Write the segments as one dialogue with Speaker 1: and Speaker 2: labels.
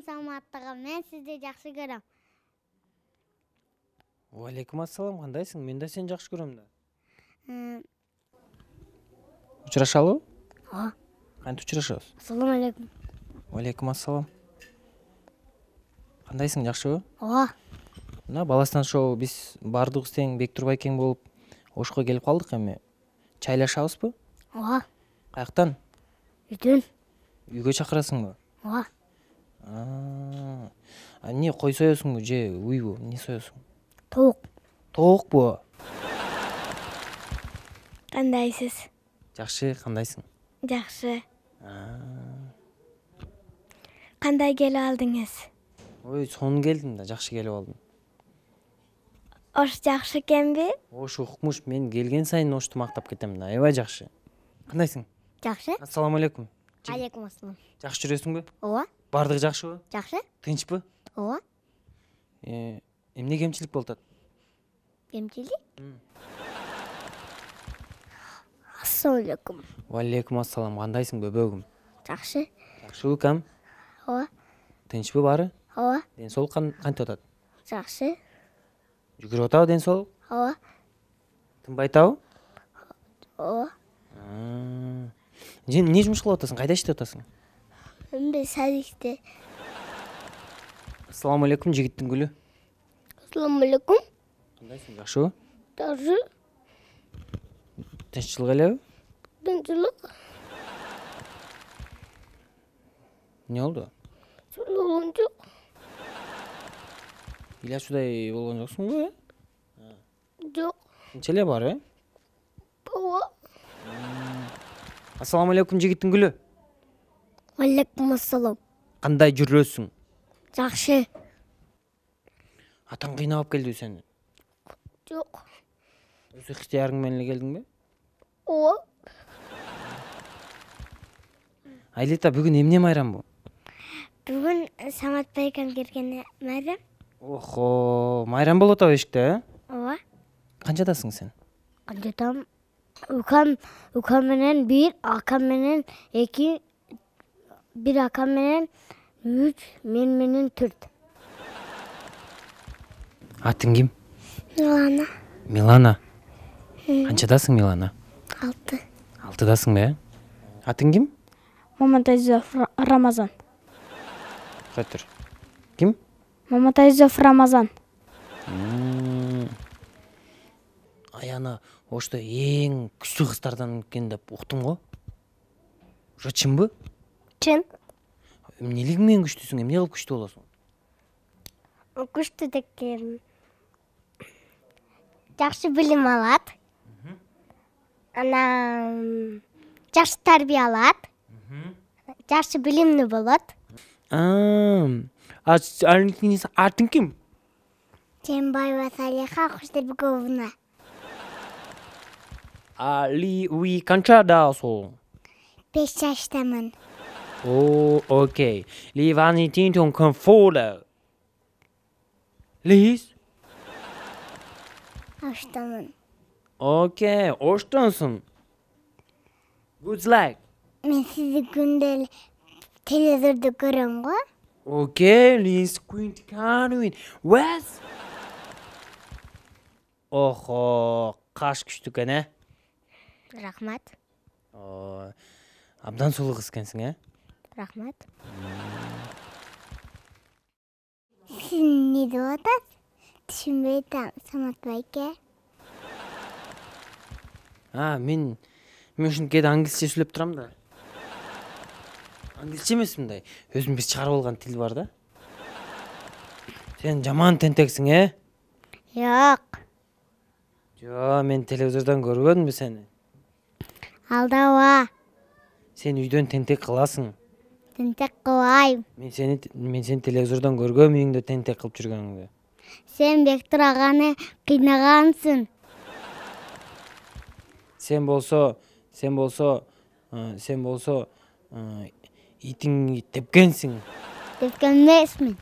Speaker 1: саламаттыгы. Мен сизди жакшы көрөм.
Speaker 2: Алейкум ассалам, кандайсың? Мен да сени жакшы көрөм да. Учурашалыбы?
Speaker 1: Ооба.
Speaker 2: Кантип учурашабыз?
Speaker 1: Ассаламу алейкум.
Speaker 2: Алейкум ассалам. Кандайсың, жакшыбы?
Speaker 1: Ооба.
Speaker 2: Мына Баластан шоу биз баардыгыбыз тең Бек Турбайкең болуп Ошко келип калдык эми. Чайлашабызбы?
Speaker 1: Ооба.
Speaker 2: Каяктан?
Speaker 1: Үйдөн.
Speaker 2: Үйгө чакырасыңбы?
Speaker 1: Ооба.
Speaker 2: Эмне, кой соесуңбу же уйбу? Эмне соесуң?
Speaker 1: Тоок.
Speaker 2: Тоокпу?
Speaker 1: Кандайсыз?
Speaker 2: Жакшы, кандайсың?
Speaker 1: Жакшы. Кандай келип алдыңыз?
Speaker 2: Ой, сонун келдим да, жакшы келип алдым.
Speaker 1: Ош жакшы экенби?
Speaker 2: Ош укмуш, мен келген сайын Ошту мактап кетем да. Аябай жакшы. Кандайсың?
Speaker 1: Жакшы.
Speaker 2: Ассаламу алейкум.
Speaker 1: Алейкум ассалам.
Speaker 2: Жакшы жүрөсүңбү?
Speaker 1: Ооба.
Speaker 2: Баардыгы жакшыбы?
Speaker 1: Жакшы.
Speaker 2: Тынчпы?
Speaker 1: Ооба.
Speaker 2: Эмне кемчилик болуп атат?
Speaker 1: Кемчилик? Ассаламу алейкум.
Speaker 2: Алейкум ассалам, кандайсың бөбөгүм?
Speaker 1: Жакшы.
Speaker 2: Жакшыбы кам?
Speaker 1: Ооба.
Speaker 2: Тынчпы баары?
Speaker 1: Ооба.
Speaker 2: Ден соолук кантип атат?
Speaker 1: Жакшы.
Speaker 2: Жүгүрүп атабы ден соолук?
Speaker 1: Ооба.
Speaker 2: Тынбай атабы?
Speaker 1: Ооба.
Speaker 2: Эмне жумуш кылып атасың? Кайда иштеп атасың?
Speaker 1: Мен садикте.
Speaker 2: Ассаламу алейкум, жигиттин гүлү.
Speaker 1: Ассаламу алейкум.
Speaker 2: Кандайсың, жакшыбы?
Speaker 1: Жакшы.
Speaker 2: Тынччылык элеби?
Speaker 1: Тынччылык.
Speaker 2: Эмне болду?
Speaker 1: Болгон жок.
Speaker 2: Ыйлачуудай болгон жоксуңбу?
Speaker 1: Жок.
Speaker 2: Тынч эле бар,
Speaker 1: Ооба.
Speaker 2: Ассаламу алейкум, жигиттин гүлү.
Speaker 1: Алейкум ассалам.
Speaker 2: Кандай жүрөсүң?
Speaker 1: Жакшы.
Speaker 2: Атаң кыйнап келдиби сени?
Speaker 1: Жок.
Speaker 2: Өз ыктыярың менен эле келдиңби?
Speaker 1: Ооба.
Speaker 2: Айлита, бүгүн эмне майрам бу?
Speaker 1: Бүгүн Самат байкем келген майрам.
Speaker 2: Охо, майрам болуп атабы эшикте,
Speaker 1: Ооба.
Speaker 2: Канчадасың сен?
Speaker 1: Канчадам? Укам менен 1, акам менен 2, 1 акам менен 3, мен менен 4.
Speaker 2: Атың ким?
Speaker 1: Милана.
Speaker 2: Милана. Канчадасың, Милана?
Speaker 1: 6.
Speaker 2: 6дасың бе? Атың ким?
Speaker 3: Маматайзов Рамазан.
Speaker 2: Кайтыр. Ким?
Speaker 3: Маматайзов Рамазан.
Speaker 2: Аяна Ошто эң күчтүү кыздардан экен деп уктум го. Ошо чынбы?
Speaker 1: Чын.
Speaker 2: Эмнелиги менен күчтүүсүң? Эмне кылып күчтүү болосуң?
Speaker 1: Күчтүү деген жакшы билим алат. Анан жакшы тарбия алат. Жакшы билимдүү болот.
Speaker 2: Атың ким?
Speaker 1: Жээнбаева Салиха Кучтарбековна.
Speaker 2: Уи канчадасың?
Speaker 1: 5 жаштамын.
Speaker 2: Окей. Ливани тинтон конфола. Лиз?
Speaker 1: Оштамын.
Speaker 2: Окей, Оштонсың. Good luck.
Speaker 1: Мен сизди күндө телевизордо көрөм го.
Speaker 2: Окей, Liz Quint Canwin. What? Охо, каш күчтүү экен,
Speaker 1: Рахмат.
Speaker 2: Абдан сулуу кыз экенсиң,
Speaker 1: Рахмат. Сиз эмне деп атасыз? Түшүнбөй атам, Самат байке.
Speaker 2: Мен ушинтип кээде англисче сүйлөп турам да. Англисче эмес мындай. Өзүм бир чыгарып алган тил бар да. Сен жаман тентексиң,
Speaker 1: Жок.
Speaker 2: Мен телевизордон көрбөдүмбү сени?
Speaker 1: Алдабаа.
Speaker 2: Сен үйдөн тентек кыласың.
Speaker 1: Тентек кылбайм.
Speaker 2: Мен сени телевизордон көргөм үйүңдө тентек кылып жүргөнүңдү.
Speaker 1: Сен Бектур аганы кыйнагансың.
Speaker 2: Сен болсо итиңди тепкенсиң.
Speaker 1: Тепкен эмесмин.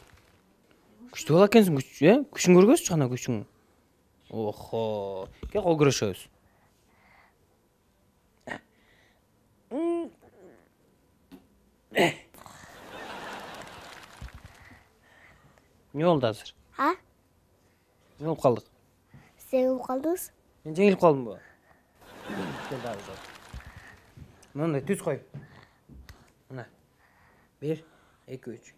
Speaker 2: Күчтүү бала экенсиң, күчүн көргөзчү ана күчүң. Охо, кел кол күрөшөбүз. эмне болду азыр?
Speaker 1: А?
Speaker 2: Эмне болуп калдык?
Speaker 1: Сен калдыңыз?
Speaker 2: Мен жеңилип калдымбы? Кел дагы жок. Мындай түз кой. Мына. 1, 2, 3.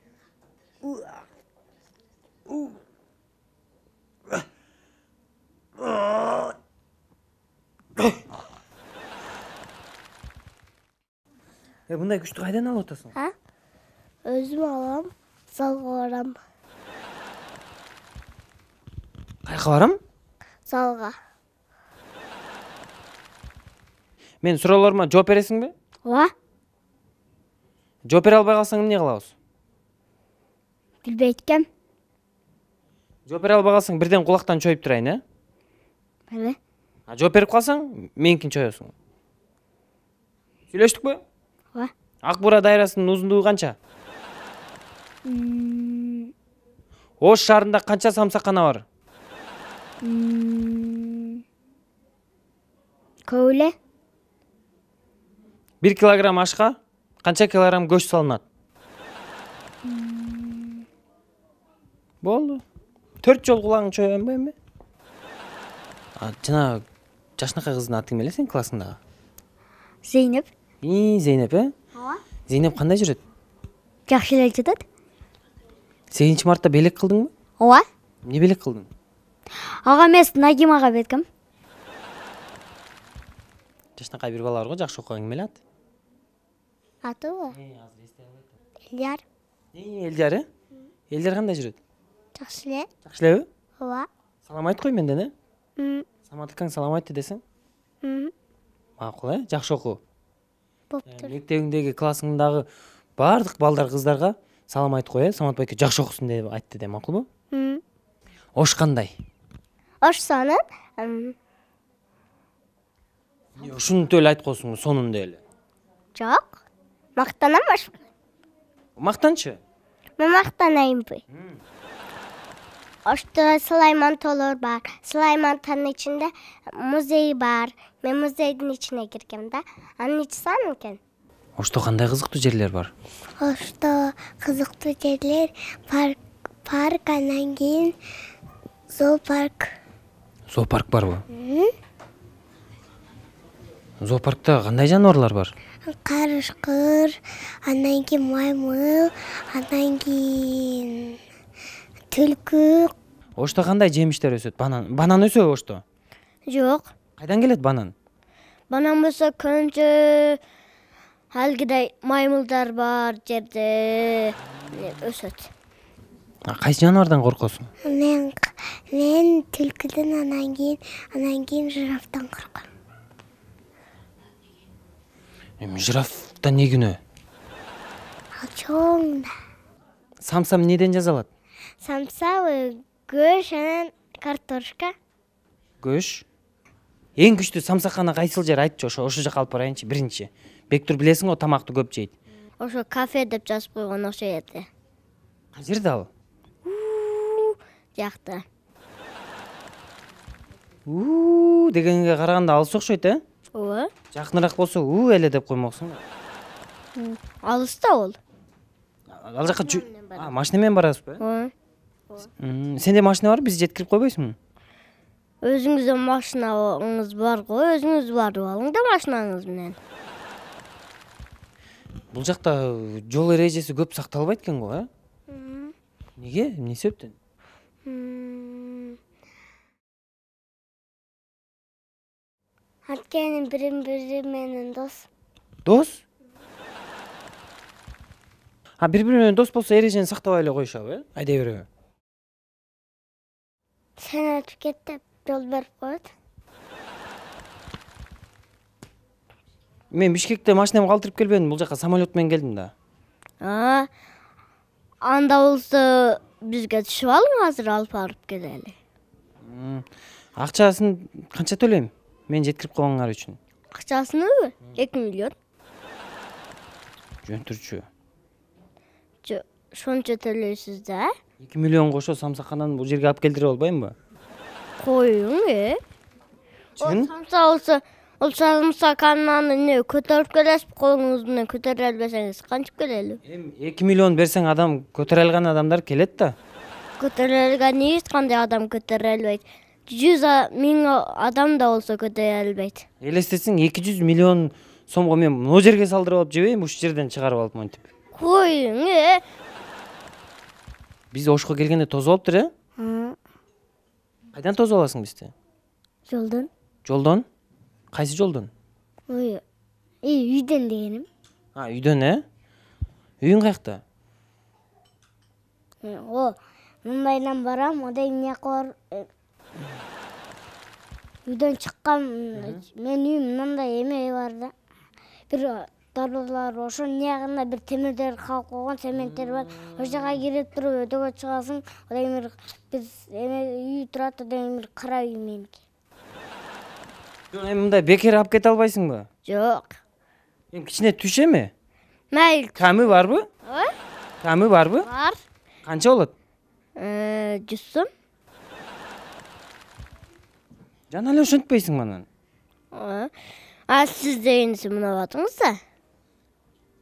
Speaker 2: Мындай күчтү кайдан алып атасың?
Speaker 1: А? Өзүм алам, залга барам.
Speaker 2: Кайка барам?
Speaker 1: Залга.
Speaker 2: Мен суроолорума жооп бересиңби?
Speaker 3: Ооба.
Speaker 2: Жооп бере албай калсаң эмне кылабыз?
Speaker 3: Билбейт экем.
Speaker 2: Жооп бере албай калсаң бирден кулактан чоюп турайын, э?
Speaker 3: Беле.
Speaker 2: А жооп берип калсаң меникин чоёсуң. Сүйлөштүкпү?
Speaker 3: Ооба.
Speaker 2: Ак Бура дайрасынын узундугу канча? Ош шаарында канча самсакана бар?
Speaker 3: Көп эле.
Speaker 2: 1 килограмм ашка канча килограмм көч салынат? Болду. 4 жол кулагың чоёбу эми? Жана жашынакай кыздын аты ким эле сенин классыңдагы?
Speaker 3: Зейнеп.
Speaker 2: Зейнеп, э?
Speaker 3: Ооба.
Speaker 2: Зейнеп кандай жүрөт?
Speaker 3: Жакшы эле жатат.
Speaker 2: 8 мартта белек кылдыңбы?
Speaker 3: Ооба.
Speaker 2: Эмне белек кылдың?
Speaker 3: Ага эмес, Нагим ага беркем.
Speaker 2: Жашынакай бир бала бар го, жакшы окуган, ким эле аты?
Speaker 1: Атыбы?
Speaker 2: Азыр эстей албайт.
Speaker 1: Элдияр.
Speaker 2: Элдияр, э? Элдияр кандай жүрөт?
Speaker 1: Жакшы эле.
Speaker 2: Жакшы элеби?
Speaker 1: Ооба.
Speaker 2: Салам айт кой менден, э? Самат акаң салам айтты десең? Макул, э? Жакшы окуу.
Speaker 1: Боптур.
Speaker 2: Мектебиңдеги классыңдагы бардык балдар кыздарга салам айтып кой, э? Самат байке жакшы окусун деп айтты де, макулбу? Ош кандай?
Speaker 1: Ош сонун.
Speaker 2: Ушунтип эле айтып коесуңбу, сонун деп эле.
Speaker 1: Жок. Мактанам ош.
Speaker 2: Мактанчы?
Speaker 1: Мен мактанайынбы? Ошто Сулайман Толор бар. Сулаймантанын ичинде музей бар. Мен музейдин ичине киргем да. Анын ичи сонун экен.
Speaker 2: Ошто кандай кызыктуу жерлер бар?
Speaker 1: Ошто кызыктуу жерлер парк, анан кийин зоопарк.
Speaker 2: Зоопарк барбы? Зоопаркта кандай жаныбарлар бар?
Speaker 1: Карышкыр, анан кийин маймыл, анан кийин түлкү.
Speaker 2: Ошто кандай жемиштер өсөт? Банан өсөбү ошто?
Speaker 3: Жок.
Speaker 2: Кайдан келет банан?
Speaker 3: Банан болсо көбүнчө алгыдай маймылдар бар жерде өсөт.
Speaker 2: Кайсы жаныбардан коркосуң?
Speaker 1: Мен түлкүдөн анан кийин жирафтан корком.
Speaker 2: Эми жирафтан не күнөө?
Speaker 1: Ал чоң да.
Speaker 2: Самса эмнеден жасалат?
Speaker 1: Самса көш анан картошка.
Speaker 2: Көш. Эң күчтүү самсакана кайсыл жер айтчы, ошо жака алып барайынчы биринчи. Бектур билесиң го, тамакты көп жейт.
Speaker 3: Ошо кафе деп жазып койгон окшойт.
Speaker 2: Кай жерде ал?
Speaker 3: Жакта.
Speaker 2: Дегенге караганда алыс окшойт, э?
Speaker 3: Ооба.
Speaker 2: Жакыныраак болсо эле деп коймоксуң.
Speaker 3: Алыста ол.
Speaker 2: Ал жака машина менен барасызбы?
Speaker 3: Ооба.
Speaker 2: Сенде машина бар, биз жеткирип койбойсуңбу?
Speaker 3: Өзүңүздө машинаңыз бар го, өзүңүз барып алың да машинаңыз менен.
Speaker 2: Бул жакта жол эрежеси көп сакталбайт экен го, э? Неге? Эмне себептен?
Speaker 1: Анткени бири менен дос.
Speaker 2: Дос? Бири-бири менен дос болсо эрежени сактабай эле коюшабы, э? Айдай береби?
Speaker 1: Сен өтүп кет деп жол берип коет.
Speaker 2: Мен Бишкекте машинамды калтырып келбедим, бул жака самолет менен келдим да.
Speaker 3: Анда болсо бизге түшүп алың, азыр алып барып келели.
Speaker 2: Акчасын канча төлөйм? Мен жеткирип койгоңар үчүн.
Speaker 3: Акчасыныбы? 2 миллион.
Speaker 2: Жөнтүрчү.
Speaker 3: Шончо төлөйсүз да?
Speaker 2: 2 миллион кошо самсакананы бул жерге алып келдире албаймбы?
Speaker 3: Коюң,
Speaker 2: Чын?
Speaker 3: Самса болсо, ол самсакананы эмне көтөрүп келесиз, колуңуз менен көтөрө албасаңыз кантип келели?
Speaker 2: Эми 2 миллион берсең адам көтөрө алган адамдар келет да.
Speaker 3: көтөрөлгөн эч кандай адам көтөрө албайт. 100.000 адам да болсо көтөрө албайт.
Speaker 2: Элестетсең 200 миллион сомго мен могу жерге салдырып алып жебейм, ушул жерден чыгарып алып монтип.
Speaker 3: Коюң.
Speaker 2: Биз ошко келгенде тосуп алыптыр, Кайдан тосуп аласың бизди?
Speaker 3: Жолдон.
Speaker 2: Жолдон? Кайсы жолдон?
Speaker 3: Ой. Үйдөн дегеним.
Speaker 2: Үйдөн, Үйүң каякта?
Speaker 3: Мындайдан барам, одан эмне кылар? Үйдөн чыккан мен үйүм мындай эме бар да. Бир дарбазалар ошонун ягында бир темирдер калып койгон, цементтер бар. Ошол жака кирип туруп өтөгө чыгасың. Одан бир биз үй турат, одан бир кара үй меники.
Speaker 2: Эми мындай бекер алып кете албайсыңбы?
Speaker 3: Жок.
Speaker 2: Эми кичине түш эми.
Speaker 3: Майыл.
Speaker 2: Камы барбы? Камы барбы?
Speaker 3: Бар.
Speaker 2: Канча болот?
Speaker 3: 100 сом.
Speaker 2: Жана эле ошентпейсиң анан.
Speaker 3: Сиз дегенди мына батыңыз да.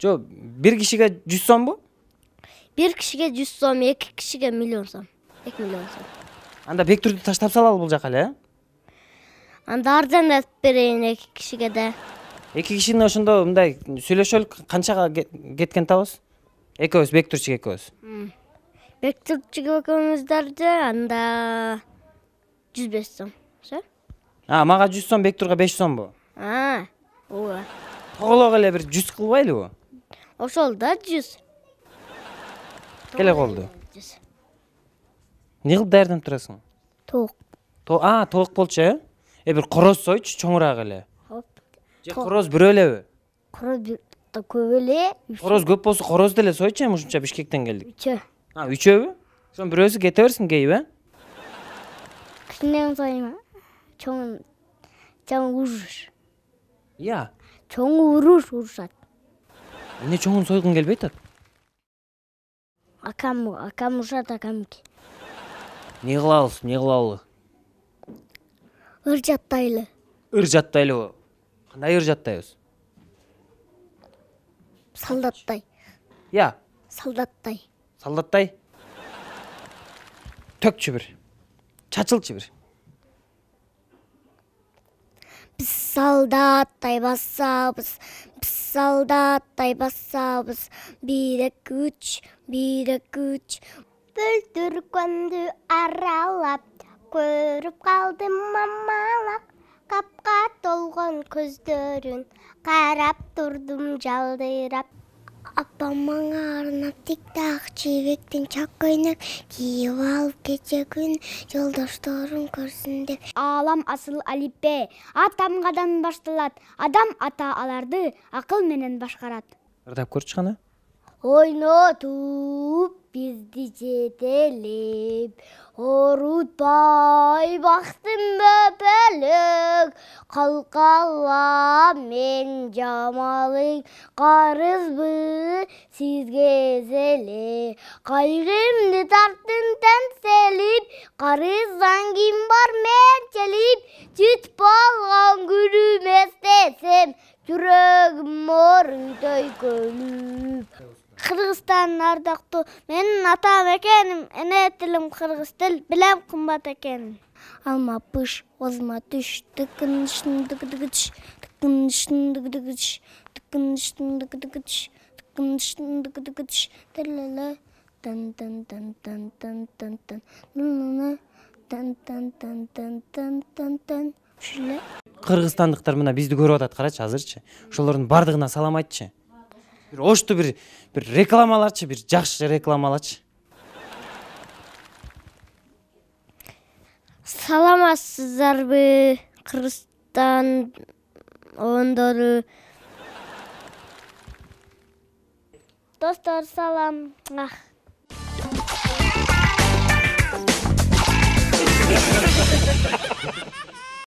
Speaker 2: Жок, бир кишиге 100 сомбу?
Speaker 3: Бир кишиге 100 сом, 2 кишиге 1 миллион сом. 2 миллион сом.
Speaker 2: Анда бектүрдү таштап салалы бул жака эле,
Speaker 3: Анда арзандатып берейин 2 кишиге да.
Speaker 2: 2 кишини ошондо мындай сүйлөшөлүк, канчага кеткен табыз? Экөөбүз, бектүрчүк экөөбүз.
Speaker 3: Бектүрчүк экөөбүздөрдү анда 105 сом.
Speaker 2: Мага 100 сом, бектурга 5 сомбу?
Speaker 3: Ооба.
Speaker 2: Тоголок эле бир 100 кылбайлыбы?
Speaker 3: Ошол да 100.
Speaker 2: Келе колду. Эмне кылып даярданып турасың?
Speaker 3: Тоок.
Speaker 2: Тоок болчу, бир короз сойчу, чоңураак эле. Же короз бирөө элеби?
Speaker 3: Короз да көп эле.
Speaker 2: Короз көп болсо корозду эле сойчу, эми ушунча Бишкектен келдик.
Speaker 3: 3.
Speaker 2: Үчөөбү? Ошонун бирөөсү кете берсин кейби,
Speaker 3: Кичинен сойма. Чоң уруш.
Speaker 2: Чоң
Speaker 3: урушат.
Speaker 2: Эмне чоңун сойгуң келбей атат?
Speaker 3: Акам урушат, акамки.
Speaker 2: Эмне кылабыз?
Speaker 3: Ыр жаттайлы.
Speaker 2: Ыр жаттайлыбы? Кандай ыр жаттайбыз?
Speaker 3: Солдаттай.
Speaker 2: Солдаттай? Төкчү бир. Чачылчы бир.
Speaker 3: Биз солдаттай басабыз. Бир эки үч.
Speaker 1: Бүлдүргөндү аралап, көрүп калдым мамалап. Капка толгон көздөрүн карап турдум жалдырап. Апам мага арнап тик-так чебектен чак ойнап, кийип алып кече күн жолдошторум көрсүн деп.
Speaker 4: Алам асыл алипе, атамгадан башталат. Адам ата аларды акыл менен башкарат.
Speaker 2: Ырдап көрчү кана.
Speaker 3: Ойнотуп бизди жетелеп, орутпай бактым бөпөлөк. Калкала мен жамалың, карызбы сизге зеле. Кайгымды тарттым тенселип, карыздан ким бар менчелип. Жүт болгон күнүм эстесем, жүрөгүм ооруйт көлүп. Кыргызстан ардактуу менин атам экеним, эне тилим кыргыз тил, билем кымбат экенин. Алма пыш, озма түш, тыкындыш, тилеле, тан тан тан тан тан тан тан, тан тан тан тан тан тан тан. Ушуле.
Speaker 2: Кыргызстандыктар мына бизди көрүп атат, карачы азырчы. Ошолордун бардыгына салам айтчы. Бир ошту бир рекламаларчы, бир жакшы рекламалачы.
Speaker 3: Саламатсыздарбы, Кыргызстан ондору. Достор, салам.